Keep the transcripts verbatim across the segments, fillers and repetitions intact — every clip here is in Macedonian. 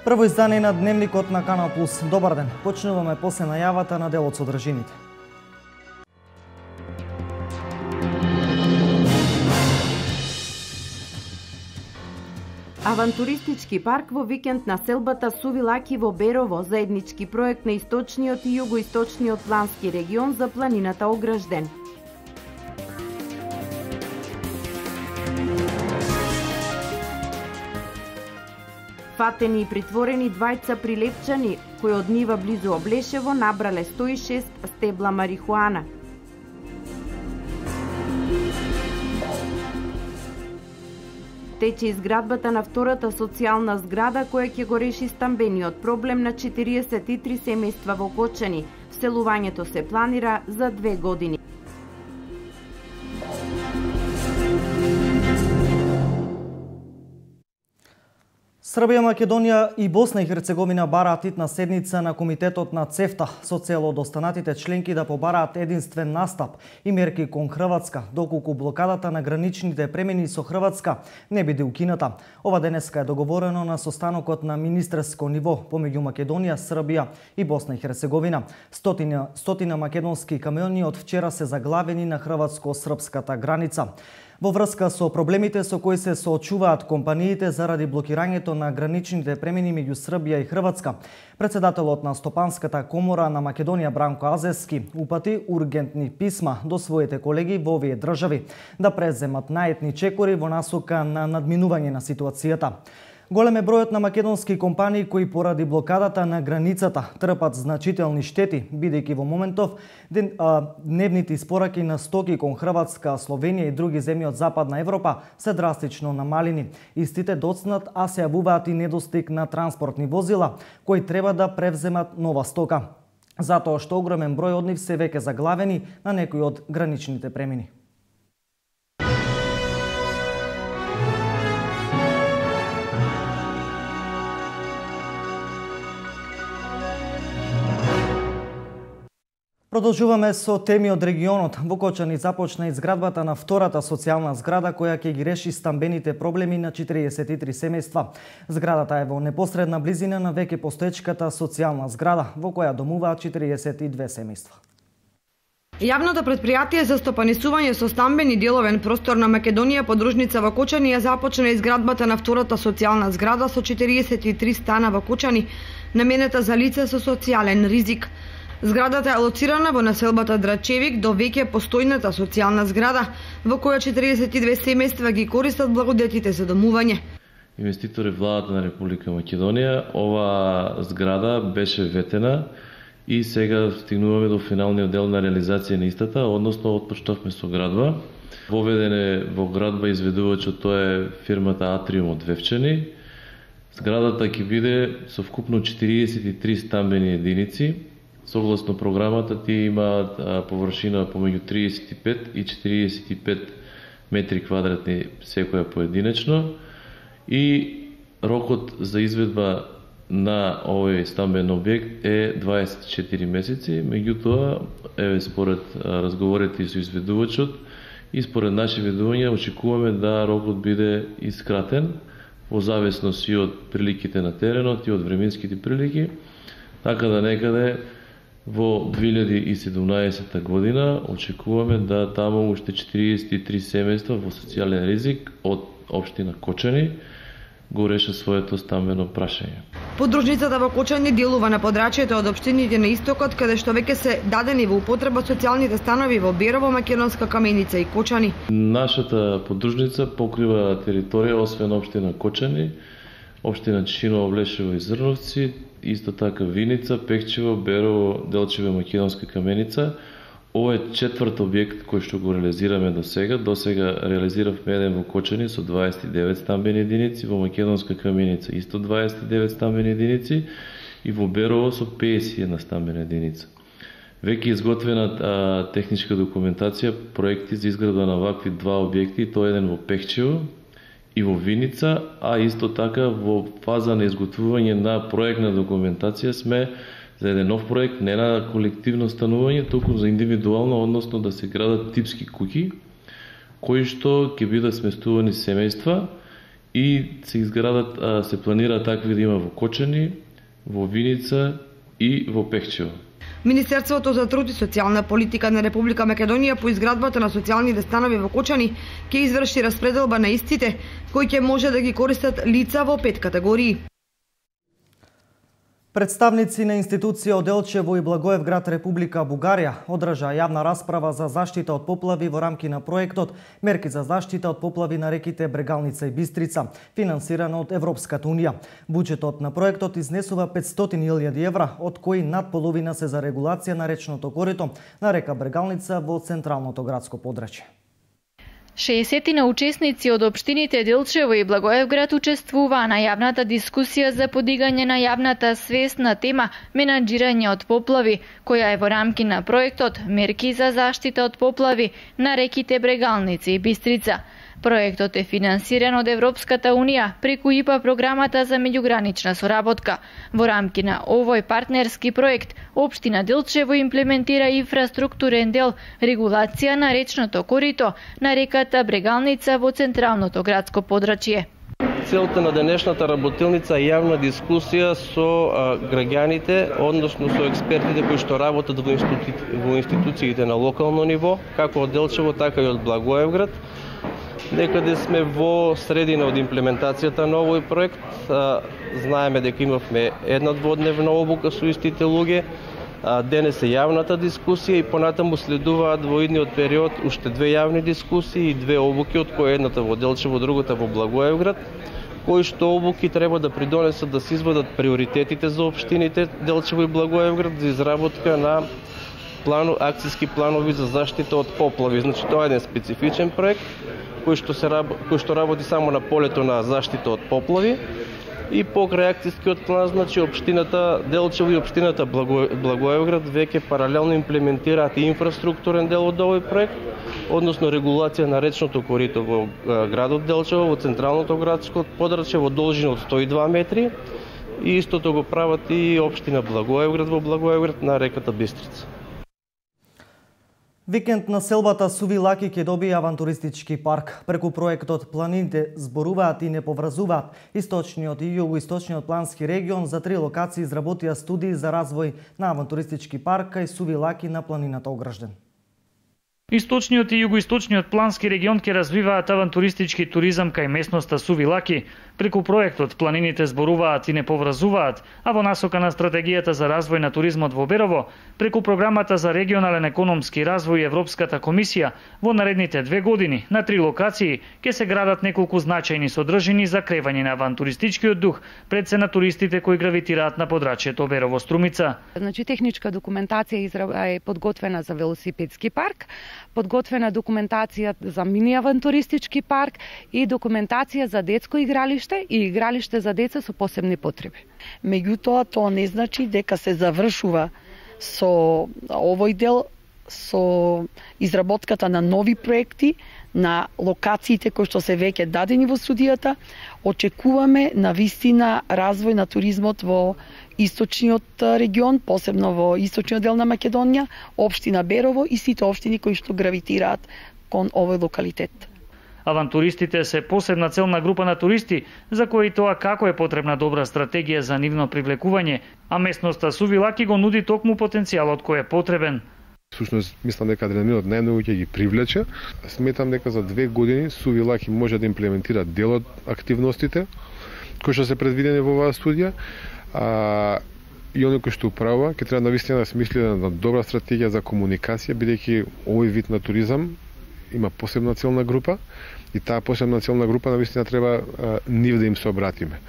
Прво издание на Дневникот на Канал Плюс. Добар ден. Почнуваме после најавата на делот содржините. Авантуристички парк во викенд на селбата Сувилаки во Берово, заеднички проект на источниот и југоисточниот плански регион за планината Огражден. Фатени и притворени двајца прилепчани, кои од нива близу Облешево набрале сто и шест стебла марихуана. Тече изградбата на втората социјална зграда која ќе го реши стамбениот проблем на четириесет и три семејства во Кочани. Вселувањето се планира за две години. Србија, Македонија и Босна и Херцеговина бараат итна седница на Комитетот на ЦЕФТА со цел од останатите членки да побараат единствен настап и мерки кон Хрватска, доколку блокадата на граничните премини со Хрватска не биде укината. Ова денеска е договорено на состанокот на министерско ниво помеѓу Македонија, Србија и Босна и Херцеговина. Стотина, стотина македонски камиони од вчера се заглавени на хрватско-српската граница. Во врска со проблемите со кои се соочуваат компаниите заради блокирањето на граничните премини меѓу Србија и Хрватска, председателот на Стопанската комора на Македонија Бранко Азевски упати ургентни писма до своите колеги во овие држави да преземат наетни чекори во насока на надминување на ситуацијата. Голем е бројот на македонски компании кои поради блокадата на границата трпат значителни штети, бидејќи во моментов ден, а, дневните испораки на стоки кон Хрватска, Словенија и други земји од Западна Европа се драстично намалени. Истите доцнат, а се јавуваат и недостиг на транспортни возила кои треба да превземат нова стока, затоа што огромен број од нив се веќе заглавени на некои од граничните премини. Продолжуваме со теми од регионот. Во Кочани започна изградбата на втората социјална зграда која ќе ги реши стамбените проблеми на четириесет и три семејства. Зградата е во непосредна близина на веќе постоечката социјална зграда во која домуваат четириесет и две семејства. Јавното претпријатие за стопанисување со стамбени деловен простор на Македонија подружница во Кочани ја започна изградбата на втората социјална зграда со четириесет и три стана во Кочани, наменета за лица со социјален ризик. Зградата е лоцирана во населбата Драчевик до веќе постојната социјална зграда, во која четириесет и две семејства ги користат благодетите за домување. Инвеститор е владата на Република Македонија. Ова зграда беше ветена и сега стигнуваме до финалниот дел на реализација на истата, односно отпочнавме со градба. Воведен е во градба изведувачот, тоа е фирмата Атриум од Вевчани. Зградата ќе биде со вкупно четириесет и три стамбени единици. Согласно програмата тие имаат површина помеѓу триесет и пет и четириесет и пет метри квадратни секоја поединечно и рокот за изведба на овој стамбен објект е дваесет и четири месеци. Меѓутоа, еве според разговорите со изведувачот и според наши ведувања очекуваме да рокот биде искратен во зависност и од приликите на теренот и од временските прилики, така да некаде во две илјади и седумнаесета година очекуваме да таму уште четириесет и три семејства во социјален ризик од општина Кочани го реша своето стамбено прашање. Подружницата во Кочани делува на подрачјето од општините на истокот, каде што веќе се дадени во употреба социјалните станови во Берово, Македонска Каменица и Кочани. Нашата подружница покрива територија освен општина Кочани, општина Чишиново, Облешево и Зрновци, исто така Виница, Пехчево, Берово, Делчево и Македонска Каменица. Ова е четврт објект кој што го реализираме до сега. До сега реализиравме еден во Кочани со дваесет и девет стамбени единици, во Македонска Каменица исто дваесет и девет стамбени единици и во Берово со педесет и една стамбена единица. Веќе изготвена а, техничка документација, проекти за изградба на вакви два објекти, тоа еден во Пехчево и во Виница, а исто така во фаза на изготвување на проектна документација сме за еден нов проект, не на колективно станување, туку за индивидуално, односно да се градат типски куќи, кои што ќе бидат сместувани семејства и се изградат, се планира такви да има во Кочани, во Виница и во Пехчево. Министерството за труд и социјална политика на Република Македонија по изградбата на социјалните станови во Кочани ќе изврши распределба на истите, кои ќе може да ги користат лица во пет категории. Представници на институција од Делчево и Благоевград, Република Бугарија, одржа јавна расправа за заштита од поплави во рамки на проектот Мерки за заштита од поплави на реките Брегалница и Бистрица, финансиран од Европската унија. Буџетот на проектот изнесува петстотини илјади евра, од кои над половина се за регулација на речното корито на река Брегалница во централното градско подрачје. шеесет учесници од општините Делчево и Благоевград учествуваа на јавната дискусија за подигање на јавната свест на тема менаџирање од поплави, која е во рамки на проектот Мерки за заштита од поплави на реките Брегалница и Бистрица. Проектот е финансиран од Европската унија преку ИПА програмата за меѓугранична соработка. Во рамки на овој партнерски проект, општина Делчево имплементира инфраструктурен дел регулација на речното корито на реката Брегалница во централното градско подрачје. Целта на денешната работилница е јавна дискусија со а, граѓаните, односно со експертите кои што работат во, институ... во институциите на локално ниво, како од Делчево, така и од Благоевград. Некаде сме во средина од имплементацијата на овој проект. Знаеме дека имавме една дводневна обука со истите луѓе. Денес е јавната дискусија и понатаму следуваат во идниот период уште две јавни дискусии и две обуки, од кои едната во Делчево, другата во Благоевград, кои што обуки треба да придонесат да се извадат приоритетите за општините Делчево и Благоевград за изработка на плану, акцијски планови за заштита од поплави. Значи, тоа е еден специфичен проект кој што се кој што работи само на полето на заштита од поплави и покрај акцијскиот план, значи општината Делчево и општината Благо... Благоевград веќе паралелно имплементираат и инфраструктурен дел од овој проект, односно регулација на речното корито во градот Делчево, во централното градско подрачје во должина од сто и два метри и истото го прават и општина Благоевград во Благоевград на реката Бистрица. Викенд на селбата Суви Лаки ќе добие авантуристички парк. Преку проектот планините зборуваат и не поврзуваат. Источниот и југоисточниот плански регион за три локации изработија студии за развој на авантуристички парк кај Суви Лаки на планината Огражден. Источниот и југоисточниот плански регион ќе развиваат авантуристички туризам кај местноста Суви Лаки. Преку проектот планините зборуваат и не поврзуваат, а во насока на стратегијата за развој на туризмот во Берово, преку програмата за регионален економски развој и Европската комисија, во наредните две години на три локации ќе се градат неколку значајни содржини за кревање на авантуристичкиот дух пред се на туристите кои гравитираат на подрачјето Берово Струмица. Значи техничка документација е подготвена за велосипедски парк, подготвена документација за мини авантуристички парк и документација за детско игралиште и игралиште за деца со посебни потреби. Меѓутоа, тоа не значи дека се завршува со овој дел, со изработката на нови проекти, на локациите кои што се веќе дадени во студијата. Очекуваме на вистина развој на туризмот во источниот регион, посебно во источниот дел на Македонија, општина Берово и сите општини кои што гравитираат кон овој локалитет. Авантуристите се посебна целна група на туристи, за кои тоа како е потребна добра стратегија за нивно привлекување, а местноста Суви Лаки го нуди токму потенцијалот кој е потребен. Всушност, мислам дека адреналинот најмногу ќе ги привлече. Сметам дека за две години Суви Лаки може да имплементира дел од активностите кои што се предвидени во оваа студија. А, и оној кој што управува, ќе треба навистина да смисли на добра стратегија за комуникација, бидејќи овој вид на туризам има посебна целна група и таа посебна целна група навистина треба а, нив да им се обратиме.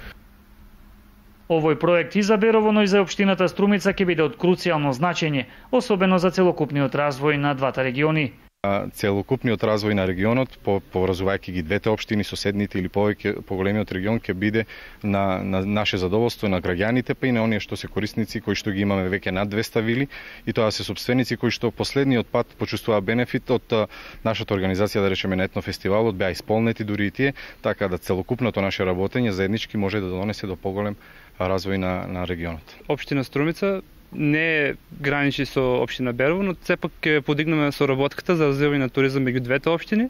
Овој проект и за Берово, но и за општината Струмица ќе биде од круцијално значење, особено за целокупниот развој на двата региони. Целокупниот развој на регионот, поврзувајќи ги двете општини, соседните или повеќе поголемиот регион, ќе биде на, на наше задоволство, на граѓаните, па и на оние што се корисници кои што ги имаме веќе над двеста вили, и тоа се сопственици кои што последниот пат почувствуваа бенефит од нашата организација, да речеме, на етнофестивалот, беа исполнети дури и тие, така да целокупното наше работење заеднички може да донесе до поголем развој на, на регионот. Општина Струмица не граничи со општина Берово, но сепак ќе подигнеме соработката за развивање на туризам меѓу двете општини.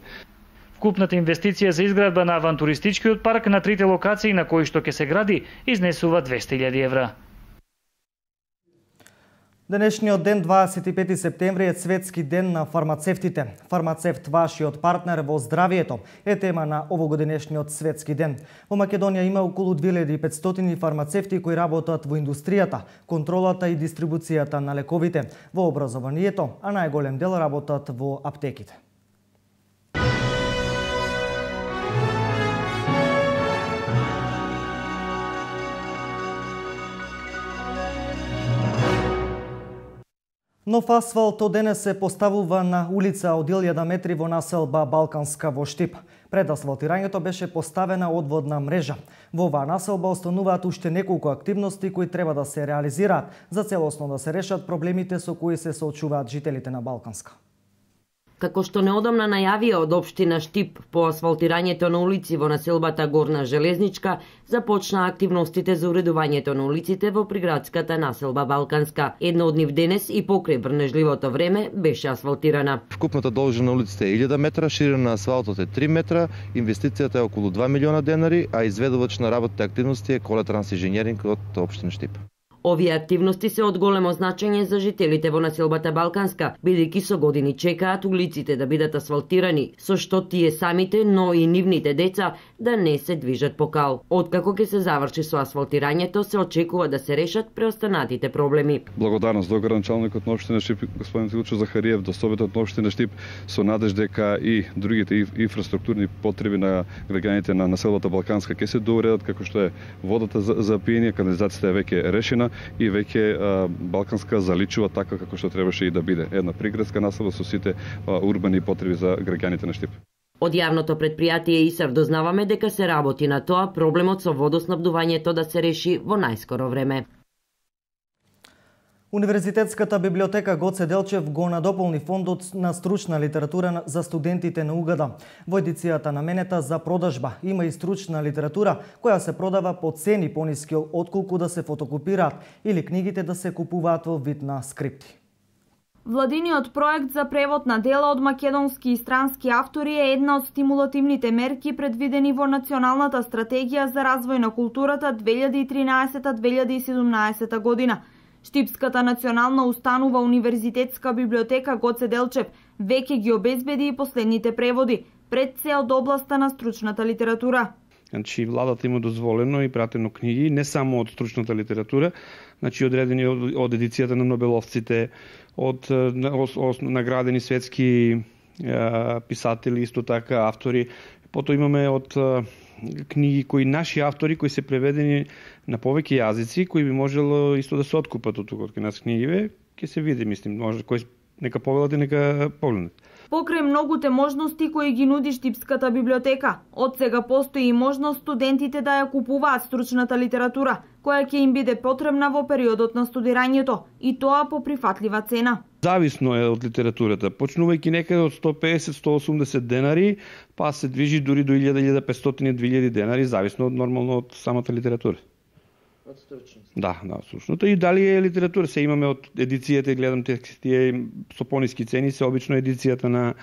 Вкупната инвестиција за изградба на авантуристичкиот парк на трите локации на кои што ќе се гради изнесува двесте илјади евра. Денешниот ден, дваесет и пети септември, е светски ден на фармацевтите. Фармацевт, вашиот партнер во здравието, е тема на овогодинешниот светски ден. Во Македонија има околу две илјади и петстотини фармацевти кои работат во индустријата, контролата и дистрибуцијата на лековите, во образованието, а најголем дел работат во аптеките. Нов асфалт од денес се поставува на улица од илјада метри во населба Балканска во Штип. Пред асфалтирањето беше поставена одводна мрежа. Во оваа населба остануваат уште неколку активности кои треба да се реализираат за целосно да се решат проблемите со кои се соочуваат жителите на Балканска. Како што неодамна најавија од општина Штип по асфалтирањето на улици во населбата Горна Железничка, започна активностите за уредувањето на улиците во приградската населба Балканска. Една од нив денес и покрај врнежливото време беше асфалтирана. Вкупната должина на улиците е илјада метра, ширина на асфалтот е три метра, инвестицијата е околу два милиона денари, а изведувач на работните активности е Коле Трансинженеринг од општина Штип. Овие активности се од големо значење за жителите во населбата Балканска, бидејќи со години чекаат улиците да бидат асфалтирани, со што тие самите, но и нивните деца да не се движат по кал. Откако ќе се заврши со асфалтирањето, се очекува да се решат преостанатите проблеми. Благодарност до градоначалникот на општина Штип, господин Тилчо Захариев, до Советот на општина Штип, со надеж дека и другите инфраструктурни потреби на граѓаните на населбата Балканска ќе се доуредат, како што е водата за, за пиење, канализацијата е веќе решена и веќе Балканска заличува така како што требаше и да биде. Една приградска населба со сите а, урбани потреби за граѓаните на Штип. Од јавното предпријатие ИСАВ дознаваме дека се работи на тоа проблемот со водоснабдувањето да се реши во најскоро време. Универзитетската библиотека Гоце Делчев го надополни фондот на стручна литература за студентите на УГД. Во едицијата наменета за продажба има и стручна литература која се продава по цени пониски отколку да се фотокопираат или книгите да се купуваат во вид на скрипти. Владиниот проект за превод на дела од македонски и странски автори е една од стимулативните мерки предвидени во Националната стратегија за развој на културата две илјади и тринаесета - две илјади и седумнаесета година. Штипската национална установа Универзитетска библиотека Гоце Делчев веќе ги обезбеди и последните преводи, пред се од областа на стручната литература. Значи, владата има дозволено и пратено книги, не само од стручната литература, значи одредени од, од едицијата на Нобеловците, од наградени светски е, писатели, исто така автори. Потоа имаме од е, книги кои наши автори кои се преведени на повеќе јазици, кои би можело исто да се откупат од тука од нас книгиве, ќе се види, мислим, може кој нека повелат и нека погледнат. Покрај многуте можности кои ги нуди Штипската библиотека, од сега постои и можност студентите да ја купуваат стручната литература, која ќе им биде потребна во периодот на студирањето, и тоа по прифатлива цена. Зависно е од литературата, почнувајќи некаде од сто песет до сто осумдесет денари, па се движи дури до илјада - илјада и петстотини - две илјади денари, зависно од нормално од самата литература. Од стручност. Да, да, од стручното. И дали е литература, се имаме од едицијата, гледам тие со пониски цени, се обично едицијата на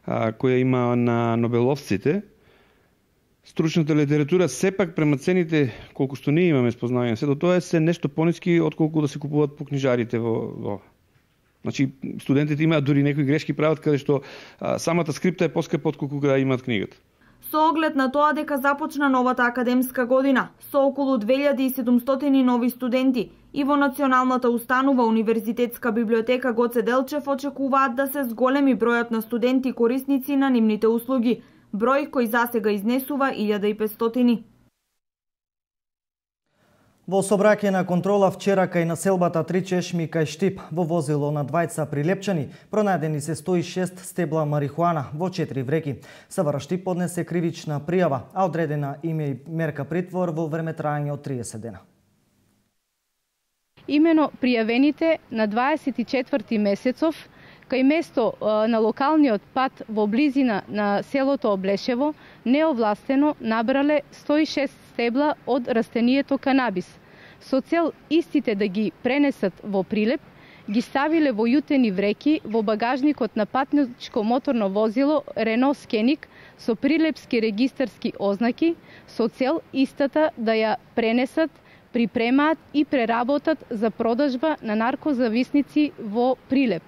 а, која има на Нобеловците. Стручната литература сепак према цените колку што ние имаме спознавање, сето тоа е се нешто пониски отколку да се купуваат по книжарите во, во. Значи студентите имаат дури некои грешки прават каде што а, самата скрипта е поскапа отколку да имаат книгата. Со оглед на тоа дека започна новата академска година со околу две илјади и седумстотини нови студенти и во Националната установа Универзитетска библиотека Гоце Делчев очекуваат да се зголеми бројот на студенти корисници на нивните услуги, број кој засега изнесува илјада и петстотини. Во сообраќајна контрола вчера кај населбата Три Чешми кај Штип, во возило на двајца прилепчани, пронајдени се сто и шест стебла марихуана во четири вреки. СВР Штип поднесе кривична пријава, а одредена им е мерка притвор во време трајање од триесет дена. Имено пријавените на дваесет и четврти месецов кај место на локалниот пат во близина на селото Облешево неовластено набрале сто и шест стебла од растението канабис. Со цел истите да ги пренесат во Прилеп, ги ставиле во јутени вреки во багажникот на патничко моторно возило Рено Скеник со прилепски регистарски ознаки со цел истата да ја пренесат, припремаат и преработат за продажба на наркозависници во Прилеп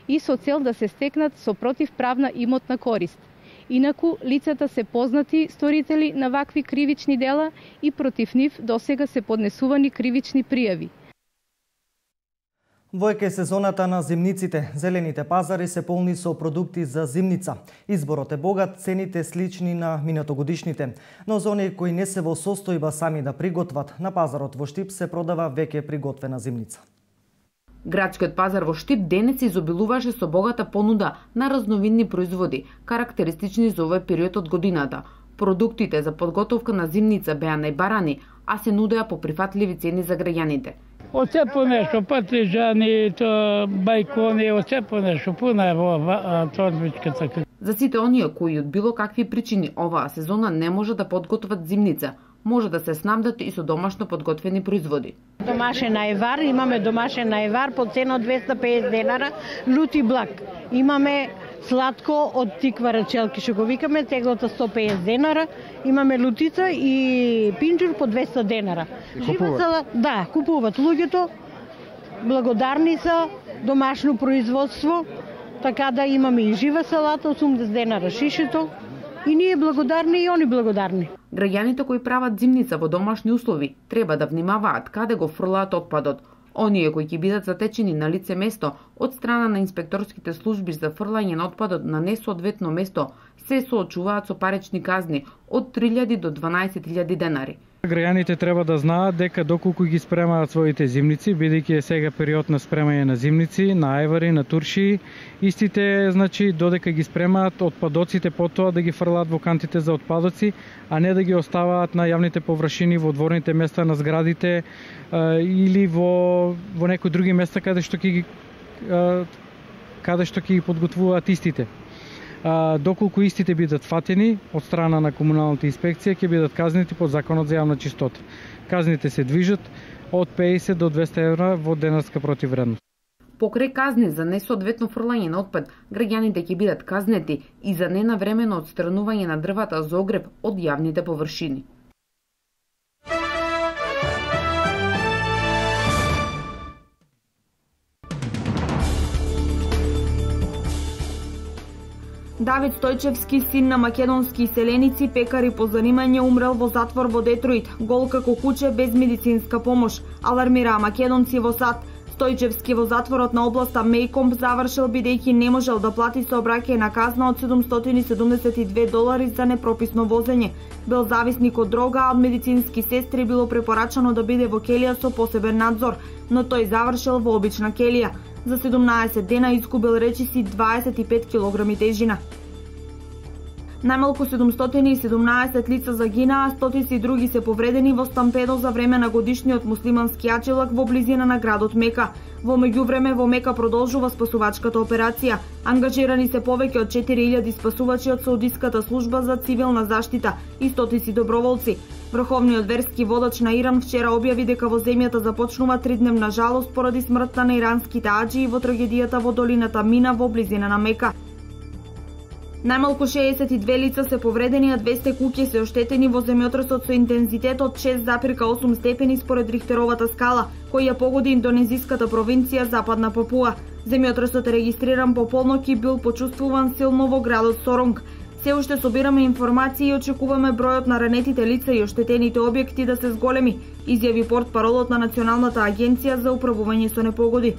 и со цел да се стекнат со противправна имотна корист. Инаку, лицата се познати сторители на вакви кривични дела и против нив досега се поднесувани кривични пријави. Во еке сезоната на зимниците, зелените пазари се полни со продукти за зимница. Изборот е богат, цените слични на минатогодишните. Но за оние кои не се во состојба сами да приготват, на пазарот во Штип се продава веќе приготвена зимница. Градскиот пазар во Штип денес изобилуваше со богата понуда на разновидни производи, карактеристични за овој период од годината. Продуктите за подготовка на зимница беа најбарани, а се нудеа по прифатливи цени за граѓаните. Од се по нешто, патрижани, то бајкони, од се по нешто, пуна е во торбичката. За сите оние кои од било какви причини оваа сезона не може да подготват зимница, може да се снабдат и со домашно подготвени производи. Домашен ајвар, имаме домашен ајвар по цена од двеста и педесет денара, лути блак. Имаме сладко од тиква рачелки, што го викаме, теглата сто и педесет денара, имаме лутица и пинџур по двеста денара. Живата, да, купуваат луѓето, благодарни се, домашно производство, така да имаме и жива салата, осумдесет денара шишето, и ние благодарни и они благодарни. Граѓаните кои прават зимница во домашни услови треба да внимаваат каде го фрлаат отпадот. Оние кои ќе бидат затечени на лице место од страна на инспекторските служби за фрлање на отпадот на несоодветно место се соочуваат со парични казни од три илјади до дванаесет илјади денари. Граѓаните треба да знаат дека доколку ги спремаат своите зимници, бидејќи е сега период на спремање на зимници, на ајвари, на турши, истите, значи, додека ги спремаат, отпадоците потоа да ги фрлаат во кантите за отпадоци, а не да ги оставаат на јавните површини, во дворните места на зградите а, или во во некои други места каде што ќе ги а, каде што ќе ги подготвуваат истите. А, доколку истите бидат фатени од страна на комуналната инспекција, ќе бидат казнети под законот за јавна чистота. Казните се движат од педесет до двесте евра во денарска противвредност. Покрај казни за несоодветно фрлање на отпад, граѓаните ќе бидат казнети и за ненавремено отстранување на дрвата за огрев од јавните површини. Давид Стојчевски, син на македонски иселеници, пекар и по занимање, умрел во затвор во Детройт, гол како куче без медицинска помош, алармираа македонци во САД. Стојчевски во затворот на областа Мејкомб завршил бидејќи не можел да плати сообраќајна казна од седумстотини и седумдесет и две долари за непрописно возење. Бил зависник од дрога, а од медицински сестри било препорачано да биде во келија со посебен надзор, но тој завршил во обична келија. За седумнаесет дена изгубил речиси дваесет и пет килограми тежина. Најмалку седумстотини и седумнаесет лица загинаа, стотици други се повредени во стампедо за време на годишниот муслимански аџилак во близина на градот Мека. Во меѓувреме во Мека продолжува спасувачката операција. Ангажирани се повеќе од четири илјади спасувачи од Саудиската служба за цивилна заштита и стотици доброволци. Врховниот верски водач на Иран вчера објави дека во земјата започнува тридневна жалост поради смртта на иранските аџии во трагедијата во долината Мина во близина на Мека. Најмалку шеесет и две лица се повредени, а двесте куќи се оштетени во земјотресот со интензитет од шест зарез осум степени според Рихтеровата скала, која ја погоди индонезиската провинција Западна Папуа. Земјотресот е регистриран по полнок и бил почувствуван силно во градот Соронг. Се уште собираме информации и очекуваме бројот на ранетите лица и оштетените објекти да се зголеми, изјави портпаролот на Националната агенција за управување со непогоди.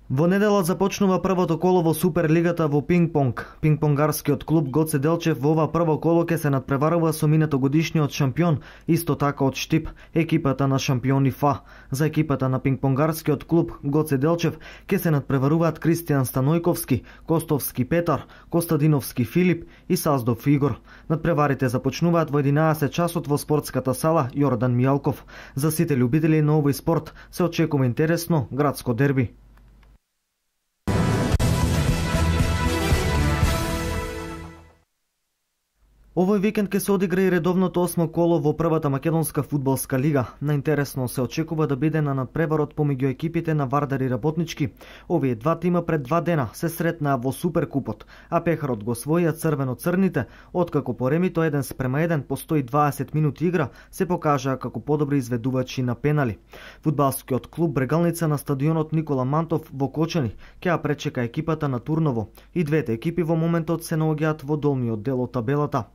Во Во недела започнува првото коло во Суперлигата во пинг-понг. Пинг-понгарскиот клуб Гоце Делчев во ова прво коло ќе се надпреварува со минатогодишниот шампион, исто така од Штип, екипата на шампиони ФА. За екипата на пинг-понгарскиот клуб Гоце Делчев ќе се надпреваруваат Кристијан Станојковски, Костовски Петар, Костадиновски Филип и Саздов Игор. Надпреварите започнуваат во единаесет часот во спортската сала Јордан Мијалков. За сите љубители на овој спорт се очекува интересно градско дерби. Овој викенд ќе се одигра и редовното осмо коло во првата македонска фудбалска лига. Наинтересно се очекува да биде на надпреварот помеѓу екипите на Вардар и Работнички. Овие два тима пред два дена се сретнаа во Суперкупот, а пехарот го освоија црвено-црните, откако поремито еден спрема еден по сто и дваесет минути игра се покажаа како подобри изведувачи на пенали. Фудбалскиот клуб Брегалница на стадионот Никола Мантов во Кочани ќе ја пречека екипата на Турново. И двете екипи во моментот се наоѓаат во долниот дел од табелата.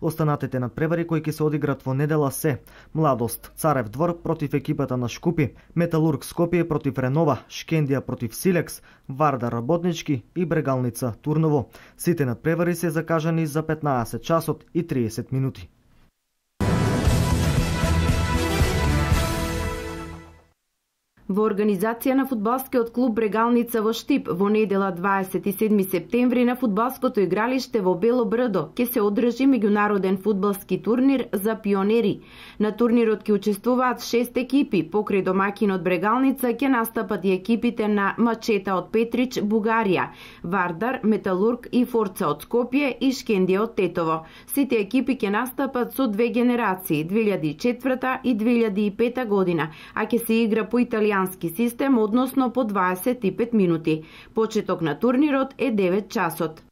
Останатите надпревари кои ќе се одиграт во недела се: Младост Царев двор против екипата на Шкупи, Металург Скопје против Ренова, Шкендија против Силекс, Вардар Работнички и Брегалница Турново. Сите надпревари се закажани за петнаесет часот и триесет минути. Во организација на фудбалскиот клуб Брегалница во Штип во недела дваесет и седми септември на фудбалското игралиште во Бело Брдо ќе се одржи меѓународен фудбалски турнир за пионери. На турнирот ќе учествуваат шест екипи, покрај домаќинот Брегалница ќе настапат и екипите на Мачета од Петрич, Бугарија, Вардар, Металург и Форца од Скопје и Шкендија од Тетово. Сите екипи ќе настапат со две генерации, две илјади и четврта и две илјади и пета година, а ќе се игра по италијански систем, односно по дваесет и пет минути. Почеток на турнирот е девет часот.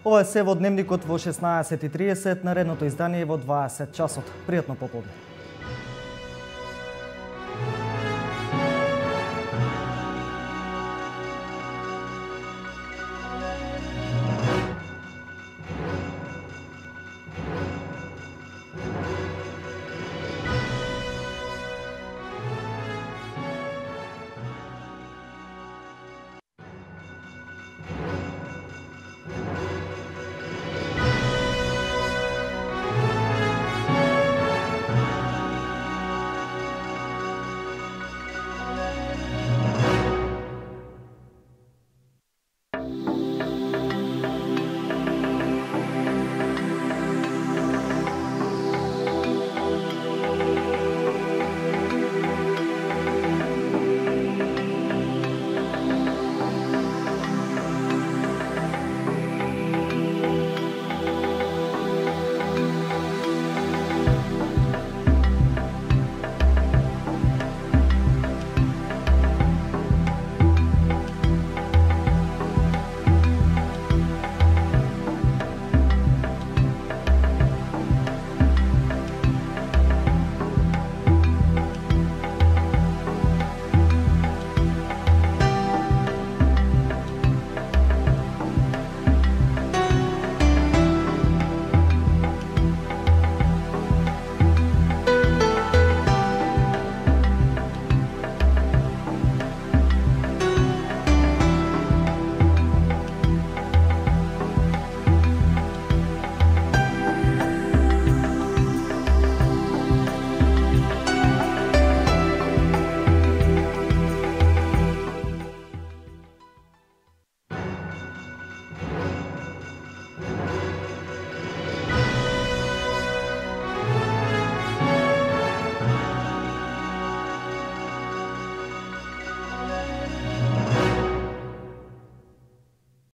Ова е се во дневникот во шеснаесет и триесет, наредното издание во дваесет часот. Пријатно пополне.